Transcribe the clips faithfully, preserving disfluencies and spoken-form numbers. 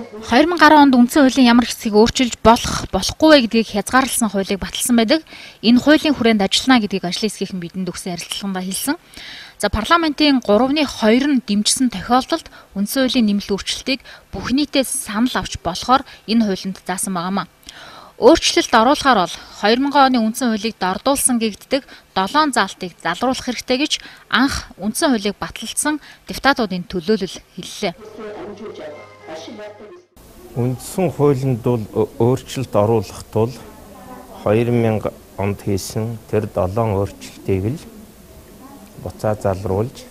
хоёр мянган гаруй онд үндсэн хуулийн ямар хэсгийг өөрчилж болох, болохгүй вэ гэдгийг хязгаарласан хуулийг баталсан байдаг. Энэ хуулийн хүрээнд ажиллана гэдгийг ажлын хэсгийнхэн бидэнд өгсөн ярилцлаганд хэлсэн. За парламентын гуравны хоёр нь дэмжсэн тохиолдолд үндсэн хуулийн нэмэлт өөрчлөлтийг бүх нийтээс санал авч болохоор энэ хуулинд заасан байгаамаа. Өөрчлөлт оруулахаар бол хоёр мянган оны үндсэн хуулийг дордуулсан гэгддэг долоон заалтыг залруулах хэрэгтэй гэж анх үндсэн хуулийг баталсан депутатуудын төлөөлөл хэллээ. Үндсэн хуулинд бол өөрчлөлт оруулах тул хоёр мянга онд хийсэн тэр долоон өөрчлөлтийг л буцаа залруулж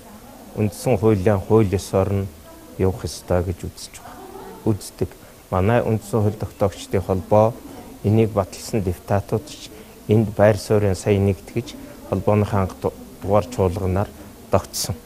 үндсэн хуулийн хууль ёсоор нь явах ёстой гэж үзэж байна. Үздэг. Манай үндсэн хууль тогтоогчдын холбоо энийг баталсан депутатууд ч энд байр суурийн сая нэгтгэж холбооныхаа дугаар чуулганаар тогтсон.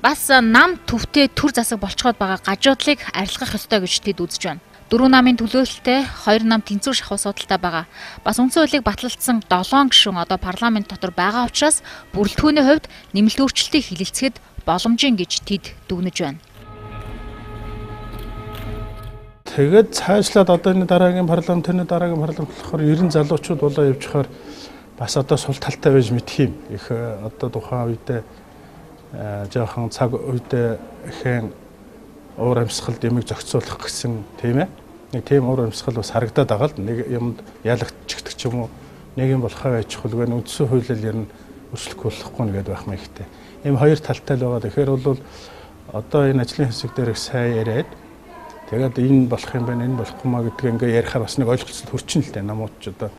Бас нам төвтэй төр засаг болцоход байгаа гажуудлыг арилгах ёстой гэж тэд үзэж байна. Дөрвөн намын төлөөлөлтөй хоёр нам тэнцвэр шахуу судалтай байгаа. Бас үндсэн хуулийг баталсан долоон гишүүн одоо парламент дотор байгаа учраас бүрэлдэхүүний хувьд нэмэлт өөрчлөлтийг хилэлцэхэд боломжийн гэж тэд дүгнэж байна. Тэгээд цаашлаад одоо энэ дараагийн парламент, энэ дараагийн парламент болохоор ерөн залуучууд болоо явчихаар бас одоо сул талтай байж мэдх юм. Их одоо тухайн үедээ жоохон цаг үедээ ихэн уур амьсгал дэмийг зохицуулах гэсэн тийм ээ. Нэг тийм уур амьсгал бас харагдаад байгаа л нэг юмд ялагчдаг ч юм уу. Нэг юм болохоо байж хулгүй үндсэн хуулиар ер нь өөрчлөхгүй болохгүй нэгэд байх маягтай. Ийм хоёр талтай л байгаа. Тэгэхээр бол одоо энэ ажлын хэсэг дээр их сайн яриад тэгээд энэ болох юм байна, энэ болохгүй маа гэдгийг ингээ ярихаар бас нэг ойлголцол хүрчин л дээ намууд ч одоо.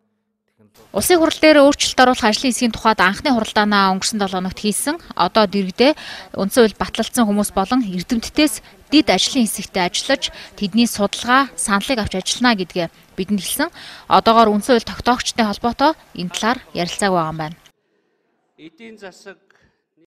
Улсын хурал дээр өөрчлөлт оруулах ажлын хэсгийн тухайд анхны хуралдаанаа өнгөрсөн долоо хоногт хийсэн. Одоо дэргэдээ үндсэн хууль батлагдсан хүмүүс болон эрдэмтдээс дид ажлын хэсэгтээ ажиллаж тэдний судалгаа, саналыг авч ажиллана гэдгээ бидэнд хэлсэн. Одоогоор үндсэн хууль тогтоогчдын холбоотой энэ талаар ярилцааг байгаа юм байна. Эдийн засаг